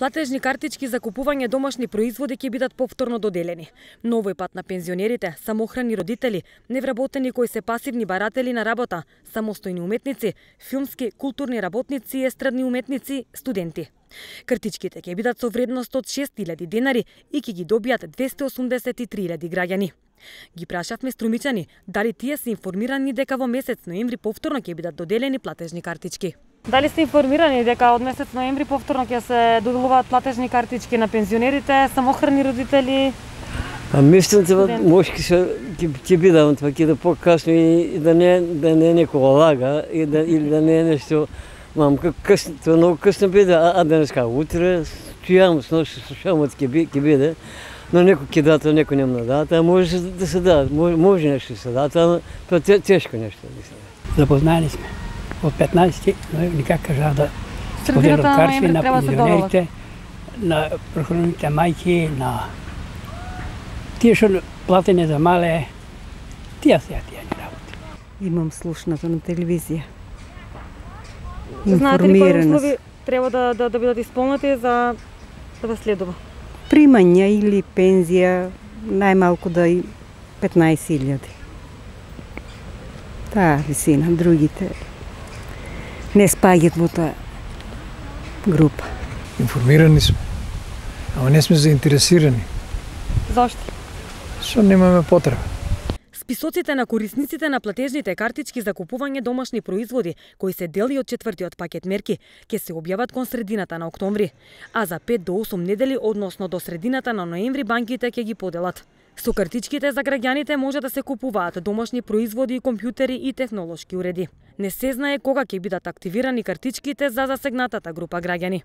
Платежни картички за купување домашни производи ќе бидат повторно доделени. Но овој пат на пензионерите, самохрани родители, невработени кои се пасивни баратели на работа, самостојни уметници, филмски, културни работници и естрадни уметници, студенти. Картичките ќе бидат со вредност од 6.000 денари и ќе ги добијат 283.000 граѓани. Ги прашавме струмичани дали тие се информирани дека во месец ноември повторно ќе бидат доделени платежни картички. Дали сте информирани дека од месец ноември повторно ќе се доделуваат платежни картички на пензионерите, самохрани родители? Мислам дека може ќе биде ќе покасно и да не некоја лага или да не е нешто. Мамка късно, тоа многу късно биде, а денеска утре стојам со нощ слушамот ќе биде. Но некој ќе дадат, некој нема да дадат, а може да се дадат, може нешто да се дадат, ама тоа тешко нешто да се дадат. Запознали сме. Од 15 ноември, как кажа, да поделам карти на пензионерите, на прохраните мајки, на тие што платене за мале, тие ни работи. Имам слушнато на телевизија. Знаете ли кои услови треба да бидат исполнети за да ве следува? Примања или пензија најмалку да и 15.000. Таа висина, другите не спаѓат во таа група. Информирани сме, ама не сме заинтересирани. Зошто? Што немаме потреба. Списоците на корисниците на платежните картички за купување домашни производи, кои се дели од 4-тиот пакет мерки, ќе се објават кон средината на октомври, а за 5 до 8 недели, односно до средината на ноември, банките ќе ги поделат. Со картичките за граѓаните може да се купуваат домашни производи, компјутери и технолошки уреди. Не се знае кога ќе бидат активирани картичките за засегнатата група граѓани.